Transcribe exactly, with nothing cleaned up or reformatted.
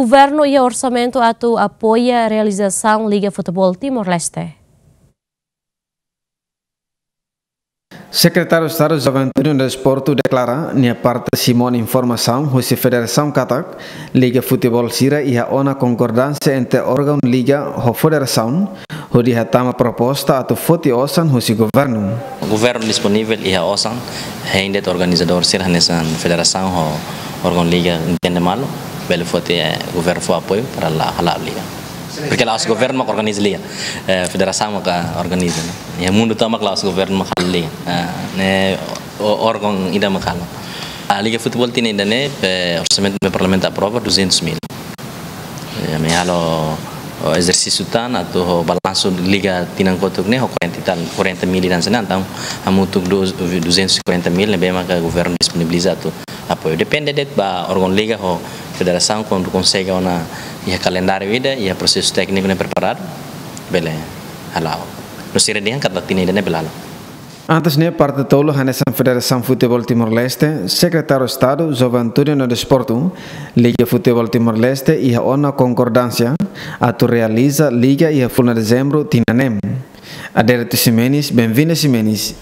Governu iha orsamentu atu apoia realizasaun Liga Futeból Timor-Leste. Sekretáriu Estadu Juventude no Desportu deklara nia parte simu ona informasaun husi federasaun katak liga futeból sira iha ona konkordánsia entre órgaun liga ho federasaun, hodi hatama proposta atu foti osan husi governu. Governu disponivel iha osan, hein de'it organizadór sira hanesan federasaun ho órgaun liga entende malu, bele foti, eh, governu fó apoiu para la, hala'o liga. Porque la'ós governu mak organiza liga, eh, federasaun mak organiza, ne'e. Iha mundu tomak la'ós governu mak halo liga. Eh, ne'e o-, órgaun ida mak halo. Ah, liga futeból tinan ida-ne'e, eh, orsamentu ne'ebé parlamentu aprova duzentos mil. Eh, ami halo, oh, ezersísiu tan atu ho balansu liga tinan kotuk ne'e ho quarenta e tal, quarenta mil ida hanesan ne'e, entaun hamutuk du-, duzentos e quarenta mil ne'ebé maka governu disponibiliza atu apoiu. Depende de'it ba órgaun liga ho federasaun kuandu konsege ona iha kalendáriu ida, iha prosesu tékniku ne'e preparadu, bele hala'o. No sira dehan katak tinan ida-ne'e bele hala'o. Antes ne'e parte tolu hanesan Federasaun Futeból Timor-Leste, Sekretáriu Estadu Juventude no Desportu, Liga Futeból Timor-Leste iha ona konkordánsia atu realiza liga iha fulan Dezembru tinan ne'e. Adérito Ximenes, Benvinda Ximenes,